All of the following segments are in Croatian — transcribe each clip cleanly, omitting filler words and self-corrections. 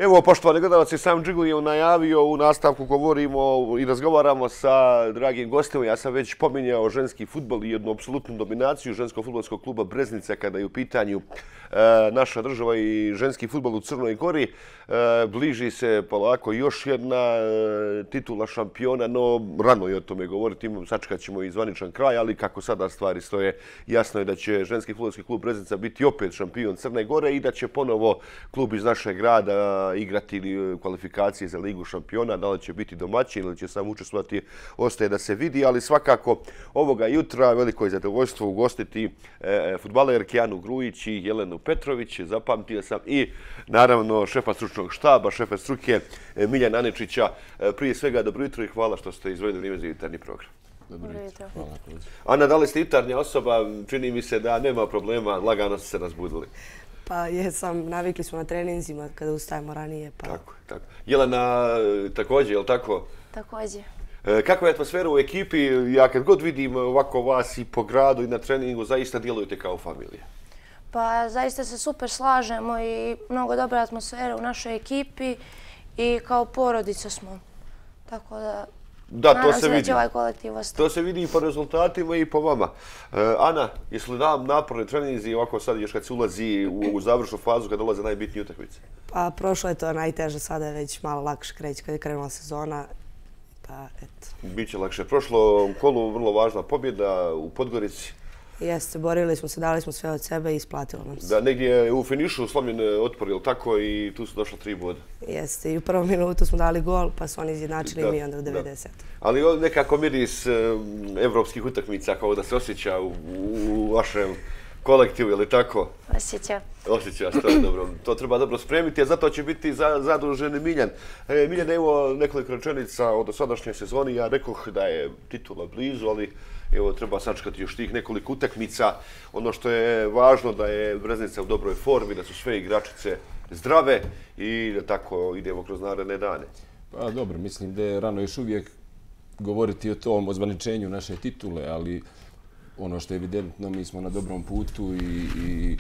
Evo, poštovani gledalci, sam Džigli je najavio, u nastavku govorimo i razgovaramo sa dragim gostima. Ja sam već pominjao ženski fudbal i jednu apsolutnu dominaciju ženskog fudbalskog kluba Breznica kada je u pitanju naša država i ženski fudbal u Crnoj Gori. Bliži se polako još jedna titula šampiona, no rano je o tome govoriti. Sačekat ćemo i zvaničan kraj, ali kako sada stvari stoje, jasno je da će ženski fudbalski klub Breznica biti opet šampion Crne Gore i da će ponovo klub iz našeg grada igrati kvalifikacije za Ligu šampiona. Da li će biti domaćin ili će samo učestvovati, ostaje da se vidi, ali svakako ovoga jutra veliko je zadovoljstvo ugostiti fudbalerke Anu Grujić i Jelenu Petrović. Zapamtio sam i naravno šefa stručnog štaba, šefa struke Miljana Aničića. Prije svega dobro jutro i hvala što ste izdvojili vrijeme za jutarnji program. Dobro jutro. Ana, da li ste jutarnja osoba? Čini mi se da nema problema, lagano ste se razbudili. Pa jesam, navikli smo na treninzima kada ustajemo ranije. Tako. Jelena također, je li tako? Također. Kakva je atmosfera u ekipi? Ja kad god vidim ovako vas i po gradu i na treningu, zaista djelujete kao familija. Pa zaista se super slažemo i mnogo dobra atmosfera u našoj ekipi i kao porodica smo. Tako da... Da, to se vidi. Ovaj kolektiv ostati. To se vidi i po rezultatima i po vama. Ana, jesu li naporni treninzi ovako sad još kad se ulazi u završnu fazu, kad dolaze najbitnije utakmice? Pa prošlo je to najteže, sada je već malo lakše kreći kad je krenula sezona. Pa eto. Biće lakše. Prošlo kolu vrlo važna pobjeda u Podgorici. Jeste, borili smo se, dali smo sve od sebe i isplatilo nam se. Da, negdje je u finišu slomljen otpor, je li tako? I tu su došla 3 boda. Jeste, i u prvom minutu smo dali gol, pa su oni izjednačili mi onda u 90. Ali nekako miris evropskih utakmica kao da se osjeća u vašem kolektivu, je li tako? Osjećaš, to je dobro. To treba dobro spremiti, a zato će biti zadužen Miljan. Miljan, evo nekoliko rečenica o dosadašnjoj sezoni. Ja rekoh da je titula blizu, ali evo treba sačekati još tih nekoliko utakmica. Ono što je važno da je Breznica u dobroj formi, da su sve igračice zdrave i da tako idemo kroz naredne dane. Pa dobro, mislim da je rano još uvijek govoriti o tom ozvaničenju naše titule, ali ono što je evidentno, mi smo na dobrom putu i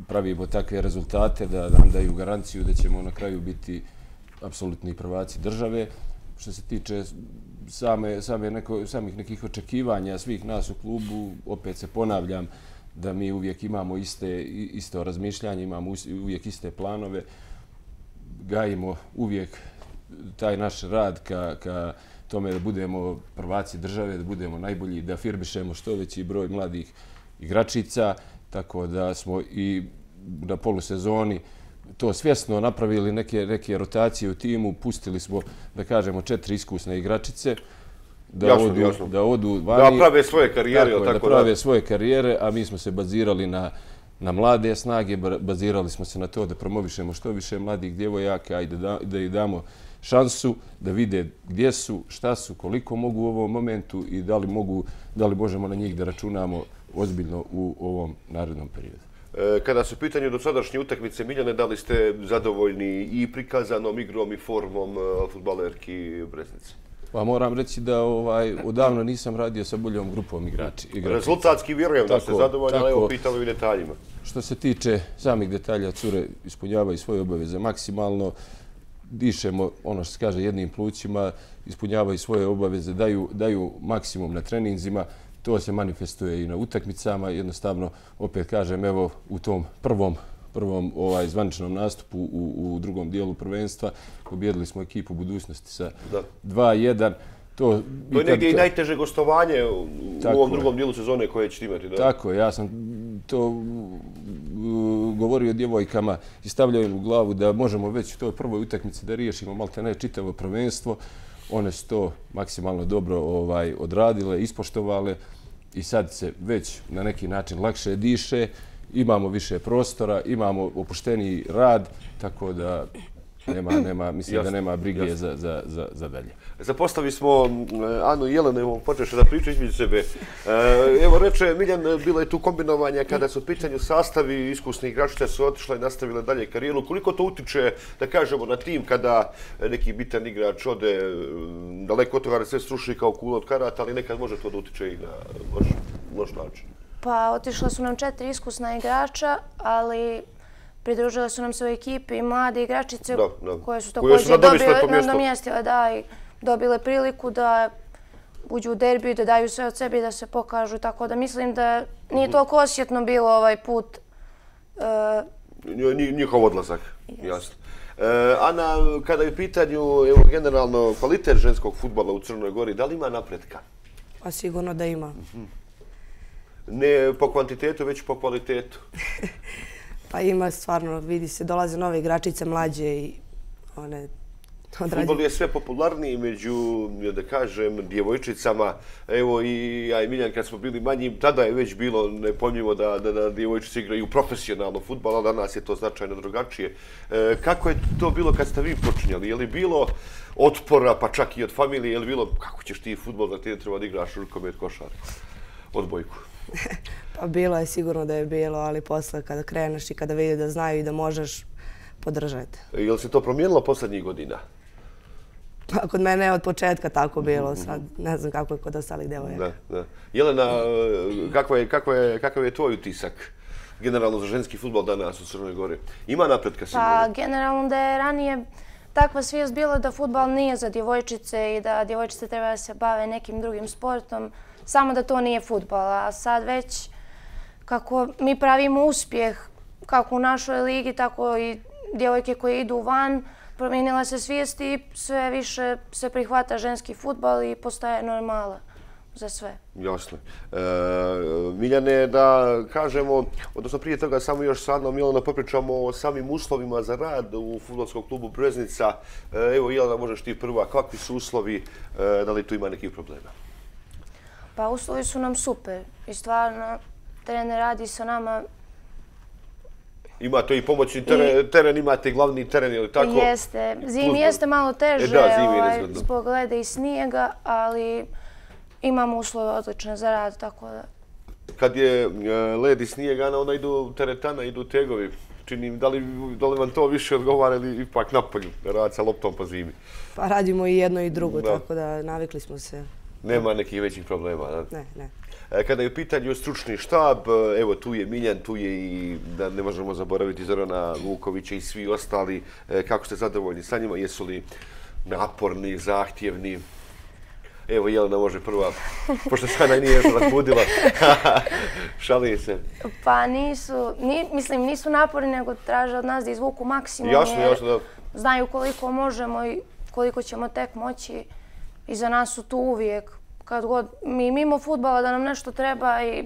pravimo takve rezultate da nam daju garanciju da ćemo na kraju biti apsolutni prvaci države. Što se tiče samih nekih očekivanja svih nas u klubu, opet se ponavljam da mi uvijek imamo isto razmišljanje, imamo uvijek iste planove, gajimo uvijek taj naš rad ka tome da budemo prvaci države, da budemo najbolji, da afirmišemo što veći broj mladih igračica, tako da smo i na polusezoni to svjesno napravili neke rotacije u timu, pustili smo, da kažemo, 4 iskusne igračice da odu vani. Da prave svoje karijere. Da prave svoje karijere, a mi smo se bazirali na mlade snage, bazirali smo se na to da promovišemo što više mladih djevojaka i da ih damo šansu da vide gdje su, šta su, koliko mogu u ovom momentu i da li možemo na njih da računamo ozbiljno u ovom narednom periodu. Kada su u pitanju dosadašnje utakmice, Miljane, da li ste zadovoljni i prikazanom igrom i formom fudbalerki Breznice? Pa moram reći da odavno nisam radio sa boljom grupom igrača. Rezultatski vjerujem da ste zadovoljni, ali evo pitamo i u detaljima. Što se tiče samih detalja, cure ispunjavaju svoje obaveze maksimalno, dišemo, ono što se kaže, jednim plućima, ispunjavaju svoje obaveze, daju maksimum na treninzima. To se manifestuje i na utakmicama. Jednostavno, opet kažem, evo u tom prvom zvaničnom nastupu u drugom dijelu prvenstva pobijedili smo ekipu Budućnosti sa 2:1. To je negdje i najteže gostovanje u ovom drugom dijelu sezone koje ćete imati. Tako, ja sam to govorio djevojkama i stavljao im u glavu da možemo već u toj prvoj utakmici da riješimo maltene čitavo prvenstvo. One su to maksimalno dobro odradile, ispoštovale i sad se već na neki način lakše diše, imamo više prostora, imamo opušteniji rad, tako da mislim da nema brige za dalje. Zapostavili smo Anu i Jelenu, počeše da pričaju između sebe. Evo reče Miljan, bilo je tu kombinovanja kada su u pitanju sastavi, iskusni igračice su otišle i nastavile dalje karijeru. Koliko to utiče, da kažemo, na tim kada neki bitan igrač ode daleko od toga da sve sruši kao kula od karata, ali nekad može to da utiče i na loš način? Pa otišla su nam 4 iskusna igrača, ali pridružile su nam se u ekipi i mlade igračice koje su Koje su također nadomjestile nadomjestile i dobile priliku da uđu u derbiju, da daju sve od sebe i da se pokažu. Tako da mislim da nije toliko osjetno bilo ovaj put. Njihov odlazak, jasno. Ana, kada je u pitanju generalno kvalitet ženskog fudbala u Crnoj Gori, da li ima napretka? Pa sigurno da ima. Ne po kvantitetu, već po kvalitetu. Pa ima stvarno, vidi se, dolaze nove igračice mlađe i one odrađuju. Fudbal je sve popularniji među, da kažem, djevojčicama. Evo i ja i Miljan kad smo bili manji, tada je već bilo nepojmljivo da djevojčice igraju profesionalno fudbal, a danas je to značajno drugačije. Kako je to bilo kad ste vi počinjali? Je li bilo otpora, pa čak i od familije? Je li bilo, kako ćeš ti fudbal da ti ne treba da igraš rukomet, košarku, odbojku? Pa bilo je, sigurno da je bilo, ali posle kada kreneš i kada vidi da znaju i da možeš, podržati. Je li se to promijenilo posljednjih godina? Pa kod mene je od početka tako bilo, sad ne znam kako je kod ostalih devojaka. Jelena, kakav je tvoj utisak generalno za ženski fudbal danas u Crnoj Gori? Ima napretka sigurno? Pa generalno da je ranije takva svijest bila da fudbal nije za djevojčice i da djevojčice treba da se bave nekim drugim sportom, samo da to nije fudbal. A sad već kako mi pravimo uspjeh kako u našoj ligi, tako i djevojke koje idu van, promijenila se svijest i sve više se prihvata ženski fudbal i postaje normala za sve. Jasno. Miljane, da kažemo, odnosno prije toga samo još sa Anom Jelenom popričamo o samim uslovima za rad u fudbalskom klubu Breznica. Evo, Jelena, možeš ti prva, kakvi su uslovi, da li tu ima nekih problema? Pa uslovi su nam super i stvarno trener radi sa nama. Imate i pomoćni teren, imate i glavni teren, ili tako? Jeste. Zimi jeste malo teže zbog leda i snijega, ali imamo uslove odlične za rad, tako da... Kad je led i snijeg, Ana, onda idu teretana, idu tegovi. Činim, da li vam to više odgovara ili ipak napolju, rad sa loptom po zimi? Pa radimo i jedno i drugo, tako da navikli smo se. Nema nekih većih problema, da? Ne. Kada je u pitanju stručni štab, evo tu je Miljan, tu je i, da ne možemo zaboraviti, Zorana Vukovića i svi ostali. Kako ste zadovoljni sa njima? Jesu li naporni, zahtjevni? Evo, Jelena može prva, pošto se Ana nije još razbudila. Šalim se. Pa nisu naporni, nego traže od nas da izvuku maksimum. Jasno, da. Znaju koliko možemo i koliko ćemo tek moći. I za nas su tu uvijek. Kad god mi mimo fudbala da nam nešto treba i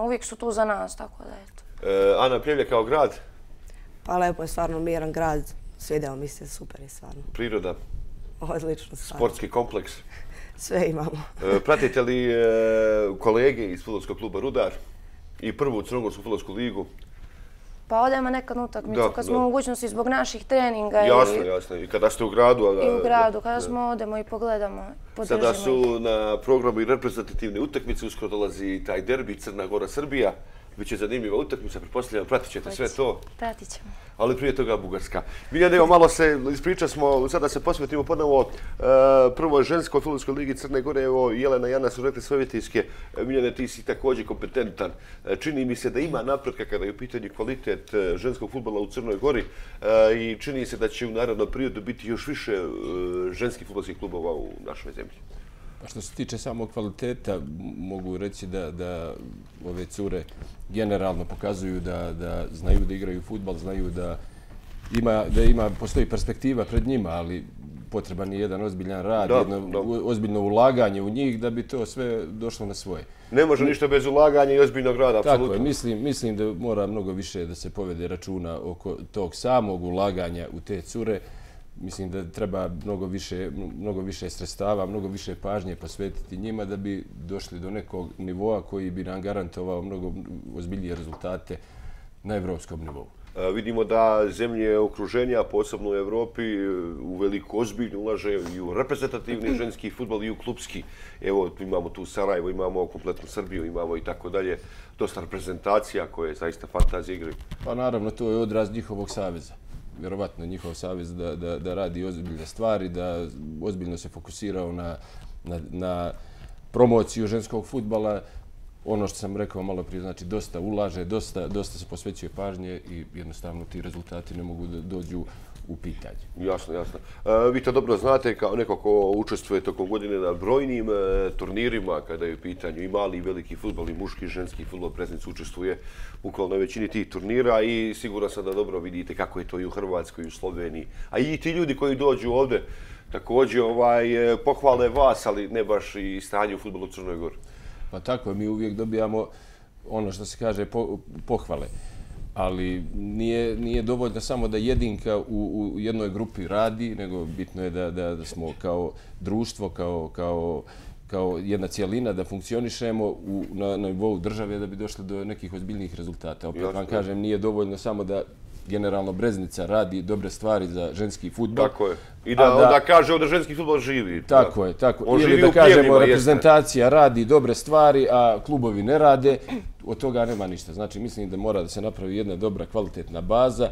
uvijek su tu za nas, tako da eto. Ana, Pljevlja kao grad? Pa lepo je, stvarno miran grad. Svidjelo mi se, super je stvarno. Priroda? Odlično stvarno. Sportski kompleks? Sve imamo. Pratite li kolege iz fudbalskog kluba Rudar i prvu Crnogorsku fudbalsku ligu? Pa odemo nekad na utakmicu, kad smo u mogućnosti zbog naših treninga. Jasno. I kada ste u gradu? I u gradu, kada smo odemo i pogledamo, podržimo ih. Sada su na programu i reprezentativne utakmice, uskoro dolazi taj derbi Crna Gora-Srbija. Biće zanimljiva utakmica, pretpostavljam, pratit ćete sve to. Pratit ćemo. Ali prije toga Bugarska. Miljane, evo malo se ispriča smo, sada se posvetimo ponovo prvoj ženskoj fudbalskoj ligi Crne Gore. Evo, Jelena i Ana su rekli svoje vjetijske. Miljane, ti si također kompetentan. Čini mi se da ima napretka kada je u pitanju kvalitet ženskog fudbala u Crnoj Gori i čini se da će u narednom periodu biti još više ženskih fudbalskih klubova u našoj zemlji. Pa što se tiče samog kvaliteta, mogu reći da ove cure generalno pokazuju da znaju da igraju fudbal, znaju da postoji perspektiva pred njima, ali potreban je jedan ozbiljan rad, jedno ozbiljno ulaganje u njih da bi to sve došlo na svoje. Ne može ništa bez ulaganja i ozbiljnog rada, apsolutno. Tako je, mislim da mora mnogo više da se povede računa oko tog samog ulaganja u te cure. Mislim da treba mnogo više sredstava, mnogo više pažnje posvetiti njima da bi došli do nekog nivoa koji bi nam garantovao mnogo ozbiljnije rezultate na evropskom nivou. Vidimo da zemlje okruženja, posebno u Evropi, u veliko ozbiljno ulaže i u reprezentativni ženski fudbal i u klubski. Evo, imamo tu Sarajevo, imamo kompletnu Srbiju, imamo i tako dalje. Dosta reprezentacija koje zaista fantazije igraju. Pa naravno, to je odraz njihovog saveza. Vjerovatno njihov savez da radi ozbiljne stvari, da ozbiljno se fokusirao na promociju ženskog fudbala. ono što sam rekao malo prije, znači dosta ulaže, dosta se posvećuje pažnje i jednostavno ti rezultati ne mogu da dođu u pitanje. Jasno, jasno. Vi to dobro znate kao neko ko učestvuje tokom godine na brojnim turnirima kada je u pitanju i mali i veliki fudbal i muški i ženski fudbal. Breznica učestvuje bukvalno na većini tih turnira i sigurno sam da dobro vidite kako je to i u Hrvatskoj i u Sloveniji. A i ti ljudi koji dođu ovdje također pohvale vas, ali ne baš i stanje u fudbalu u Crnoj Gori. Pa tako, mi uvijek dobijamo ono što se kaže pohvale. Ali nije dovoljno samo da jedinka u jednoj grupi radi, nego bitno je da smo kao društvo, kao jedna cijelina, da funkcionišemo na nivou države da bi došli do nekih ozbiljnijih rezultata. Opet vam kažem, nije dovoljno samo da generalno Breznica radi dobre stvari za ženski fudbal. Tako je. I da onda kaže da ženski fudbal živi. Tako je, tako. Ili da kažemo reprezentacija radi dobre stvari, a klubovi ne rade, od toga nema ništa. Znači, mislim da mora da se napravi jedna dobra, kvalitetna baza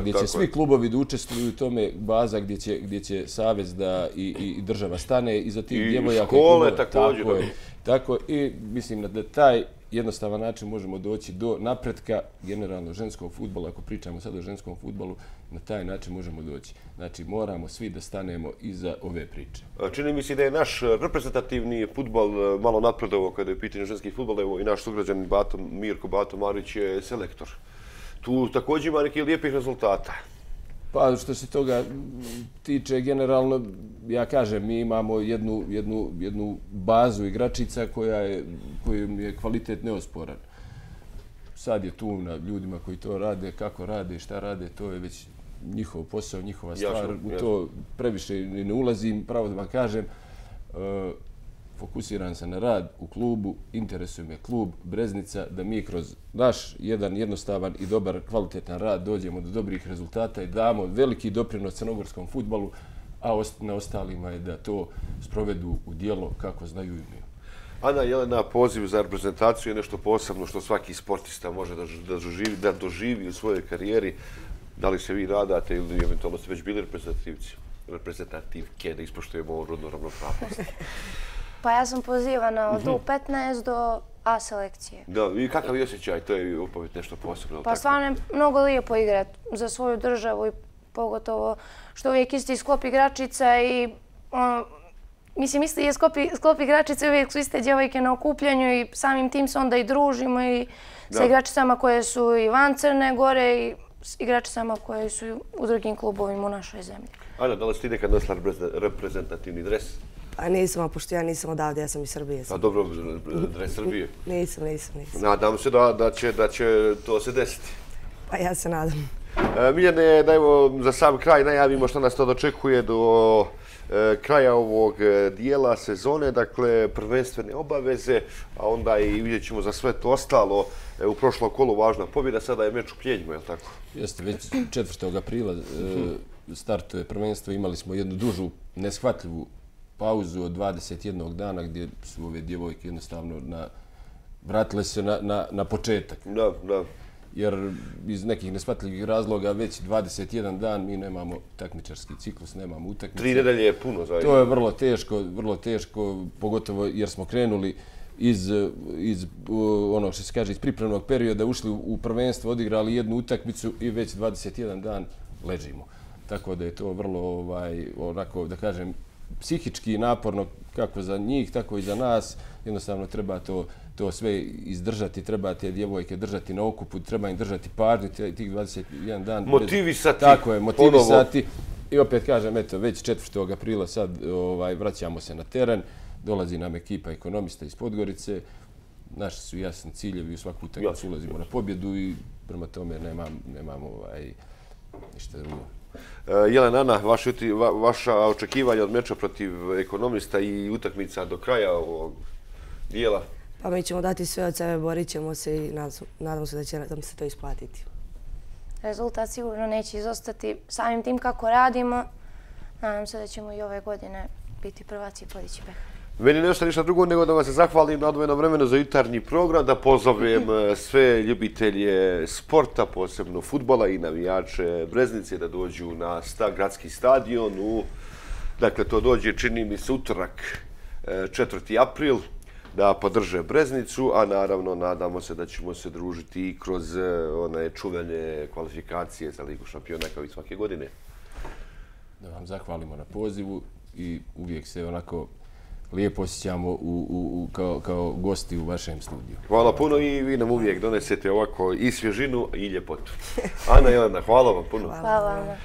gdje će svi klubovi da učestvuju u tome, baza gdje će savez i država stane iza tih djevojaka. I škole također. Tako, i mislim da taj jednostavan način možemo doći do napretka generalno ženskog fudbala. Ako pričamo sad o ženskom fudbalu, na taj način možemo doći. Znači, moramo svi da stanemo iza ove priče. Čini mi se da je naš reprezentativni fudbal malo napredovao kada je pitanje ženski fudbal. Evo i naš sugrađanin Mirko Bato Marić je selektor. Tu također ima nekih lijepih rezultata. Pa što se toga tiče, generalno, ja kažem, mi imamo jednu bazu igračica kojom je kvalitet neosporan. Sad je tu na ljudima koji to rade, kako rade, šta rade, to je već njihov posao, njihova stvar. U to previše ne ulazim, pravo da vam kažem. Fokusiran sam na rad u klubu, interesuje me klub Breznica, da mi kroz naš jedan jednostavan i dobar kvalitetan rad dođemo do dobrih rezultata i damo veliki doprinos crnogorskom fudbalu, a na ostalima je da to sprovedu u djelo kako znaju i umiju. Ana, Jelena, poziv za reprezentaciju je nešto posebno što svaki sportista može da doživi u svojoj karijeri. Da li se vi radate ili eventualno ste već bili reprezentativke, da ispoštujemo ovu rodnu ravnopravnost? Pa ja sam pozivana od U15 do A selekcije. Da, i kakav je osjećaj? To je opet nešto posebno. Pa stvarno je mnogo lijepo igrati za svoju državu i pogotovo što uvijek isti sklop igračica i mislim isti je sklop igračica, uvijek su iste djevojke na okupljanju i samim tim se onda i družimo i sa igračicama koje su i van Crne Gore i s igračicama koje su u drugim klubovima u našoj zemlji. Ana, da li si ti nekad nosila reprezentativni dres? Pa nisam, a pošto ja nisam odavde, ja sam iz Srbije. A dobro, dres Srbije? Nisam. Nadam se da će to se desiti. Pa ja se nadam. Miljane, da evo za sam kraj najavimo što nas to dočekuje do kraja ovog dijela sezone, dakle prvenstvene obaveze, a onda i vidjet ćemo za sve to ostalo. U prošlom kolu važna pobjeda, sada je meč u Pljenjima, je li tako? Jeste, već 4. aprila startuje prvenstvo, imali smo jednu dužu, neshvatljivu pauzu od 21 dana gdje su ove djevojke jednostavno vratile se na početak. Da. Jer iz nekih neshvatljivih razloga već 21 dan mi nemamo takmičarski ciklus, nemamo utakmice. 3 nedelje je puno zaista. To je vrlo teško, pogotovo jer smo krenuli iz ono što se kaže iz pripremnog perioda, ušli u prvenstvo, odigrali jednu utakmicu i već 21 dan ležimo. Tako da je to vrlo onako da kažem psihički naporno kako za njih, tako i za nas. Jednostavno treba to sve izdržati, treba te djevojke držati na okupu, treba im držati pažnju tih 21 dan. Motivisati. Tako je, motivisati. I opet kažem, eto, već 4. aprila sad vraćamo se na teren, dolazi nam ekipa ekonomista iz Podgorice, naši su jasni ciljevi, u svaku utakmicu ulazimo na pobjedu i prema tome nemamo ništa drugo. Jelena, Ana, vaša očekivanja od meča protiv ekonomista i utakmica do kraja ovog dijela? Pa mi ćemo dati sve od sebe, borit ćemo se i nadamo se da će nam se to isplatiti. Rezultat sigurno neće izostati samim tim kako radimo. Nadam se da ćemo i ove godine biti prvaci i podići Behar. Meni ne ostaje ništa drugo nego da vam se zahvalim na odvojenom vremenu za jutarnji program, da pozovem sve ljubitelje sporta, posebno fudbala i navijače Breznice da dođu na gradski stadion. Dakle, to dođe, čini mi se, utorak 4. april. da podrže Breznicu, a naravno nadamo se da ćemo se družiti i kroz one čuvene kvalifikacije za Ligu šampiona kao i svake godine. Da vam zahvalimo na pozivu i uvijek se onako lijepo osjećamo kao gosti u vašem studiju. Hvala puno i vi nam uvijek donesete ovako i svježinu i ljepotu. Ana i Jelena, hvala vam puno. Hvala vam.